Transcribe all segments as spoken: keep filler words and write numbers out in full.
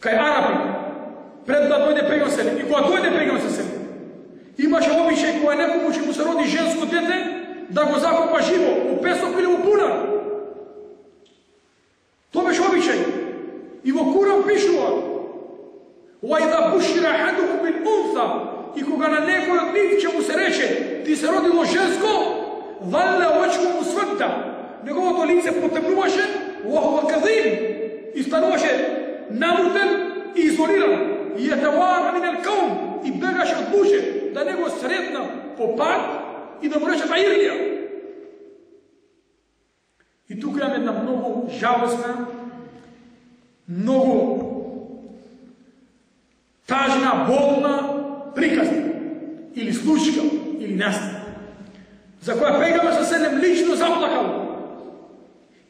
кај арапи, пред да дојде пејгамбер, и кога дојде пејгамбер, имаше обичај кога некому ќе му се роди женско дете, да го закопа живо, у песок или у бунар. Тоа беше обичај. И во Куран пишува: وَإِذَا بُشِّرَ أَحَدُهُمْ بِالْأُنثَى, и кога на некој од нив ќе му се рече: ти се родило женско, ظَلَّ وَجْهُهُ مُسْوَدًّا, неговото лице потемнуваше, وَهُوَ كَظِيمٌ, и стануваше намртен и изолиран, и يَتَوَارَى مِنَ الْقَوْمِ, и бегаше од луѓе да не го сретна по пат и да му речат аирлија. И тука имаме една многу жалостна, многу тажна, болна приказна или случка или настана, за која пејгамбер со седем лично заплакал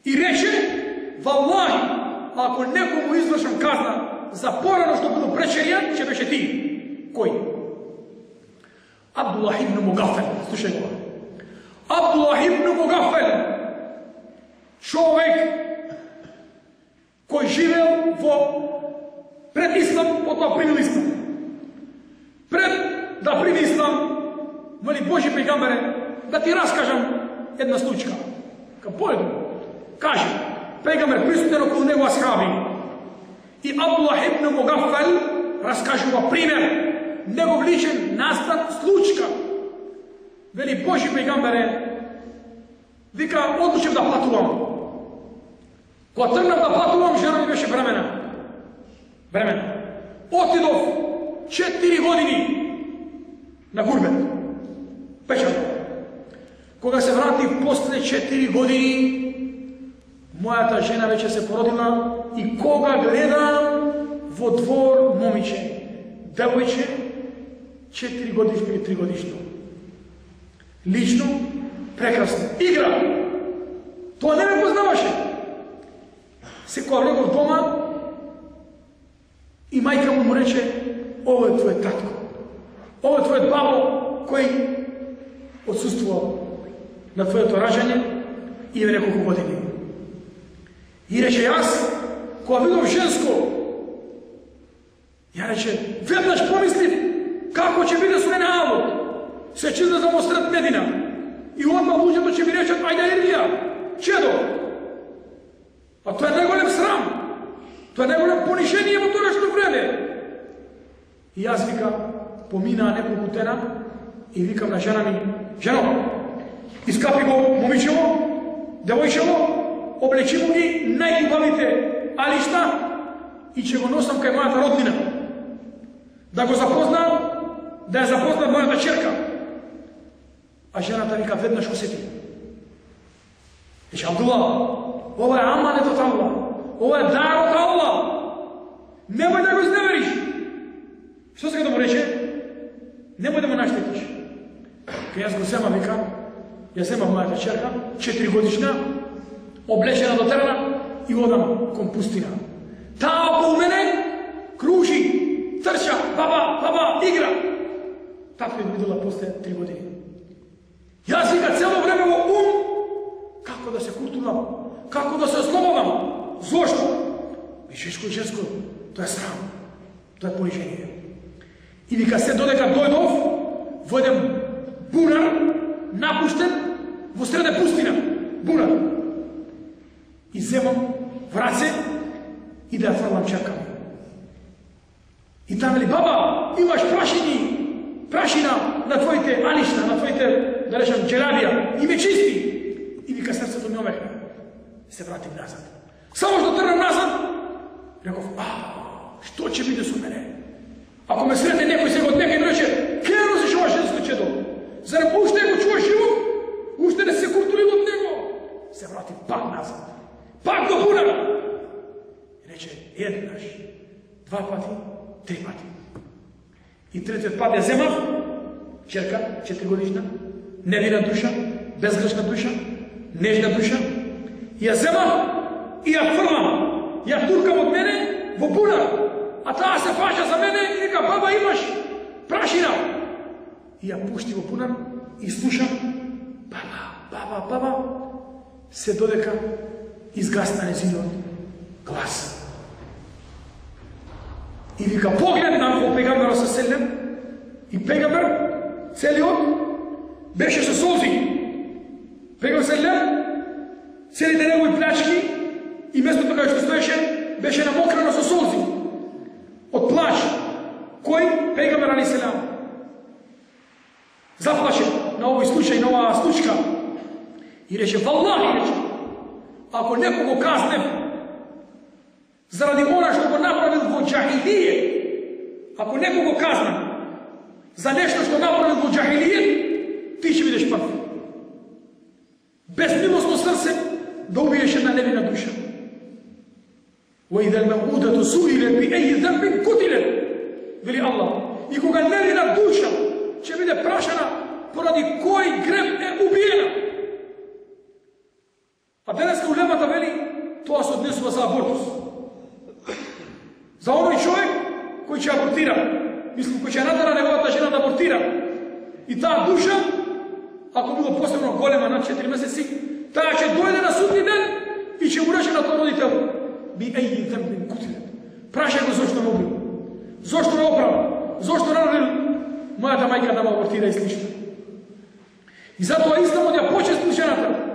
и рече: валлахи, ако некому извршам казна за порано што бил преченијан, ќе беше ти. Кој? Абдуллах ибн Мугафел. Слушај го. Абдуллах ибн Мугафел, човек кој живеел во пред ислам, потоа примил ислам. Пред да прими ислам, моли Божи пејгамбере, да ти раскажам една случка. Ка појду, кажи, пејгамбер присутен околу него асхаби. И Абдуллах ибн Мугафел раскажува пример, негов личен настан случка. Вели: Божи пејгамбере, вика, одлучив да патувам. Кога тргнав да патувам, жена ми беше бремена. Бремена. Отидов четири години на гурбет. Печат. Кога се вратив после четири години, мојата жена веќе се породила, и кога гледам во двор момиче, девојче, четири годишно или три годишно. Лично, прекрасно. Игра. Тоа не ме познаваше. Секоја влегов дома и мајка му му рече: ово е твојот татко. Ово е твојот бабо кој отсуствува на твоето ражање и е неколку години. И рече: јас, кога видов женско, ја рече, веднаш помислив како ќе биде со мене алот. Се чизна за мострат Медина. И одма луѓето ќе ми речат: ајде Ирлија, чедо. А тоа е најголем срам. Тоа е најголем понишение во тогашно време. И јас, вика, поминаа неколку дена и викам на жена ми: жено, искапи го момичево, девојчево, облечи му ги најубавите алишта и ќе го носам кај мојата роднина. Да го запознам, да ја запознам мојата черка. А жената вика, веднаш усети. Рече: Абдулла, ова е аманет од Аллах, ова е дар од Аллах. Немој да го изневериш. Што сега да му рече? Немој да му наштетиш. Кај јас го зема, вика, ја зема мојата черка, четири годишна, облечена до терена, и одам кон пустина. Таа околу мене кружи, трча, баба, баба, игра. Така ми видела после три години. Јас, вика, цело време во ум како да се куртунам, како да се ослободам. Зошто? Мишешко и женско, тоа е срам, тоа е понижение. И вика, се додека дојдов во еден бунар, напуштен, во среде пустина, бунар. И земам в раце и да ја фрлам черка ми. И там ли: баба, имаш прашини, прашина на твоите алишта, на твоите, да речам, джелабија, и ме чисти. И вика, срцето ми омехна. И се вратим назад. Само што тргнам назад, реков: а, што ќе биде со мене? Ако ме сретне некој сега од некој рече: ке носиш ова женско чедо? Зарем уште го чуваш живо? Уште не се куртулил од него? Се вратим пак назад. Пак до бунар. И рече: еднаш, два пати, три пати. И третиот пат ја земав, черка, четири годишна, невина душа, безгрешна душа, нежна душа, и ја земав и ја фрлам, ја туркам од мене во бунар. А таа се фаќа за мене и вика: баба, имаш прашина. И ја пушти во бунар и слушам: баба, баба, баба, се додека изгасна незиниот глас. И вика погледна во пегамберот со селем и пегамбер целиот беше со солзи. Пегамбер селем целите негови плачки и местото кај што стоеше беше намокрано со солзи од плач. Кој? Пегамбер алейхиселам. Заплаше на овој случај, на оваа случка и рече, валлахи, рече, ако некој го казнев заради она што го направил во џахилијет, ако некој го казнев за нешто што направил во џахилијет, ти ќе бидеш прв. Безмилосно срце да убиеш една невина душа. وَإِذَا الْمَوْءُودَةُ سُئِلَتْ بِأَيِّ ذَنبٍ قُتِلَتْ, вели Аллах. И кога невина душа ќе биде прашана поради кој грев е убиена. А денеска улемата вели тоа се однесува за абортус. За оној човек кој ќе абортира, мислам кој ќе натера неговата жена да абортира. И таа душа, ако било посебно голема над четири месеци, таа ќе дојде на судни ден и ќе му рече на тој родител: би аји ذنب قتلت. Прашај го зошто ме убил, зошто ме оправа, зошто наредил мојата мајка да ме абортира и слично. И затоа Исламот ја почести жената.